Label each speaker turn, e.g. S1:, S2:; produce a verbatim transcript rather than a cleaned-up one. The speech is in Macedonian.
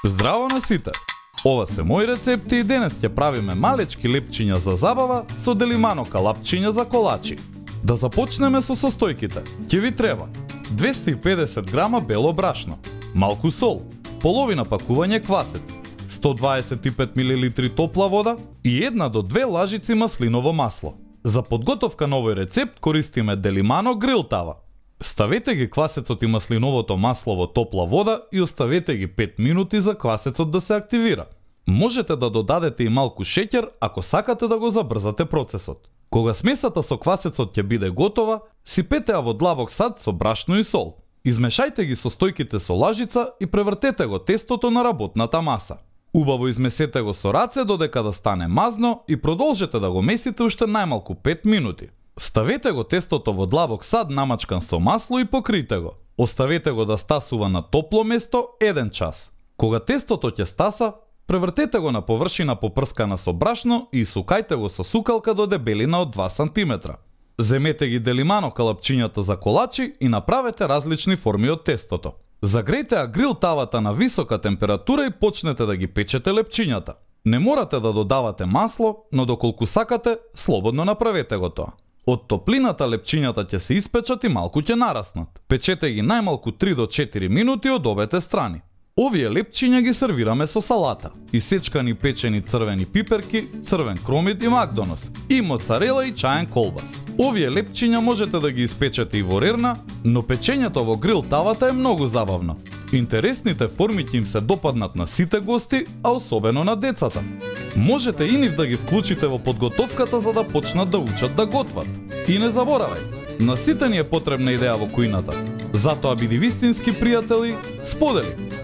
S1: Здраво на сите! Ова се мои рецепти и денес ќе правиме малечки лепчиња за забава со делимано калапчиња за колачи. Да започнеме со состојките. Ќе ви треба двесте и педесет грама бело брашно, малку сол, половина пакување квасец, сто дваесет и пет милилитри топла вода и една до две лажици маслиново масло. За подготовка на овој рецепт користиме делимано грил тава. Ставете ги квасецот и маслиновото масло во топла вода и оставете ги пет минути за квасецот да се активира. Можете да додадете и малку шеќер ако сакате да го забрзате процесот. Кога смесата со квасецот ќе биде готова, сипете ја во длабок сад со брашно и сол. Измешајте ги состојките со лажица и превртете го тестото на работната маса. Убаво измесете го со раце додека да стане мазно и продолжете да го месите уште најмалку пет минути. Ставете го тестото во длабок сад намачкан со масло и покрите го. Оставете го да стасува на топло место еден час. Кога тестото ќе стаса, превртете го на површина попрскана со брашно и сукајте го со сукалка до дебелина од два сантиметра. Земете ги делимано калапчињата за колачи и направете различни форми од тестото. Загрејте ја грил тавата на висока температура и почнете да ги печете лепчињата. Не морате да додавате масло, но доколку сакате, слободно направете го тоа. Од топлината лепчињата ќе се испечат и малку ќе нараснат. Печете ги најмалку три до четири минути од обете страни. Овие лепчиња ги сервираме со салата, исечкани печени црвени пиперки, црвен кромит и макдонос, и моцарела и чаен колбас. Овие лепчиња можете да ги испечете и во рерна, но печењето во грил тавата е многу забавно. Интересните форми ќе им се допаднат на сите гости, а особено на децата. Можете и нив да ги вклучите во подготовката за да почнат да учат да готват. И не заборавај, на сите ни е потребна идеја во кујната. Затоа биди вистински пријатели, сподели.